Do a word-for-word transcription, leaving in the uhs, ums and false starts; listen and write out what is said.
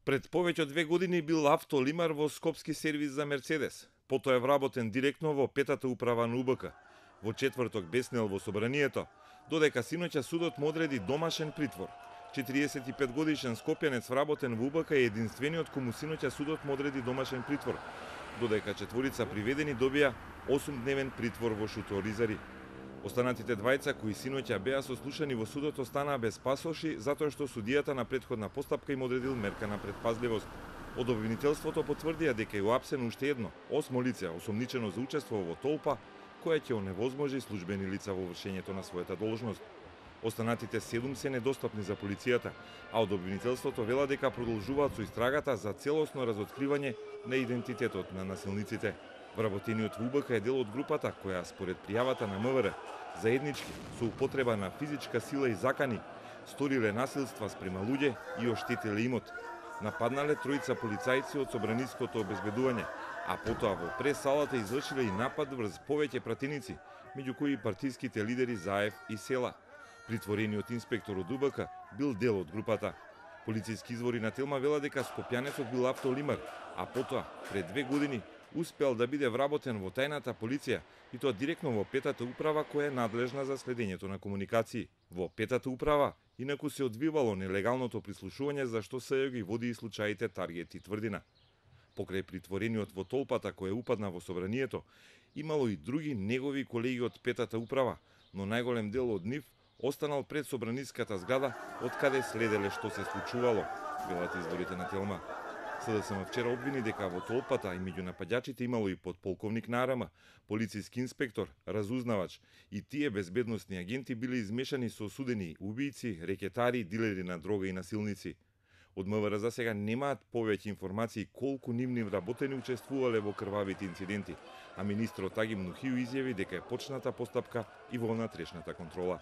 Пред повеќе од две години бил автолимар во Скопски сервис за Мерцедес. Потоа е вработен директно во петата управа на УБК. Во четврток беснел во собранието, додека синоќа судот му одреди домашен притвор. четириесет и пет годишен скопјанец вработен во УБК е единствениот кому синоќа судот му одреди домашен притвор, додека четворица приведени добија осумдневен притвор во Шуторизари. Останатите двајца кои синоќа беа сослушани во судот останаа без пасоши затоа што судијата на претходна постапка им одредил мерка на предпазливост. Од обвинителството потврдија дека е уапсено уште едно, осмо лице осомничено за учество во толпа која ќе оневозможи службени лица во вршењето на својата должност. Останатите седум се недостапни за полицијата, а од обвинителството вела дека продолжуваат со истрагата за целосно разоткривање на идентитетот на насилниците. Вработениот во УБК е дел од групата која според пријавата на МВР заеднички со употреба на физичка сила и закани сториле насилства спрема луѓе и оштетиле имот. Нападнале тројца полицајци од собраниското обезбедување, а потоа во прес-салата извршиле и напад врз повеќе пратеници, меѓу кои партиските лидери Заев и Села. Притворениот инспектор од УБК бил дел од групата. Полициски извори на Телма вела дека скопјанецот бил автолимар, а потоа, пред две години, успел да биде вработен во тајната полиција и тоа директно во петата управа која е надлежна за следењето на комуникации. Во петата управа инаку се одвивало нелегалното прислушување за што СЈО ги води и случаите Таргет и Тврдина. Покрај притворениот во толпата која упадна во собранието, имало и други негови колеги од петата управа, но најголем дел од нив останал пред собраниската зграда од каде следеле што се случувало, велат изворите на Телма. СДСМ вчера обвини дека во толпата и меѓу напаѓачите имало и подполковник на АРМ, полициски инспектор, разузнавач и тие безбедносни агенти биле измешани со осудени убијци, рекетари, дилери на дрога и насилници. Од МВР за сега немаат повеќе информации колку нивни вработени учествувале во крвавите инциденти, а министрот Аги Мнухију изјави дека е почната постапка и во внатрешната контрола.